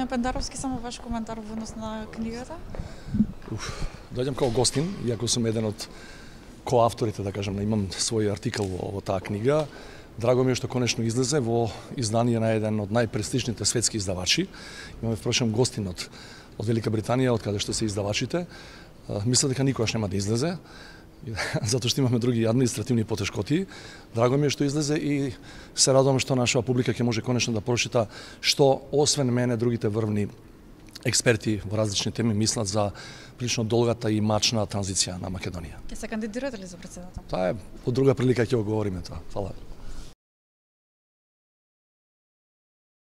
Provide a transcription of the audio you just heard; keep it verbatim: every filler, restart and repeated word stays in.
Господине Пендаровски, само ваш коментар во однос на книгата? Уф, доаѓам како гостин, иако сум еден од коавторите, да кажам, имам свој артикал во, во таа книга. Драго ми е што конечно излезе во издание на еден од најпрестижните светски издавачи. Имаме впрочем гостин од, од Велика Британија, од каде што се издавачите. Мисля дека никогаш нема да излезе, затоа што имаме други административни потешкоти. Драго ми е што излезе и се радувам што нашава публика ќе може конечно да прочита што освен мене другите врвни експерти во различни теми мислат за прилично долгата и мачна транзиција на Македонија. Ќе се кандидирате ли за претседател? Таа е од друга прилика ќе го говориме тоа. Фала.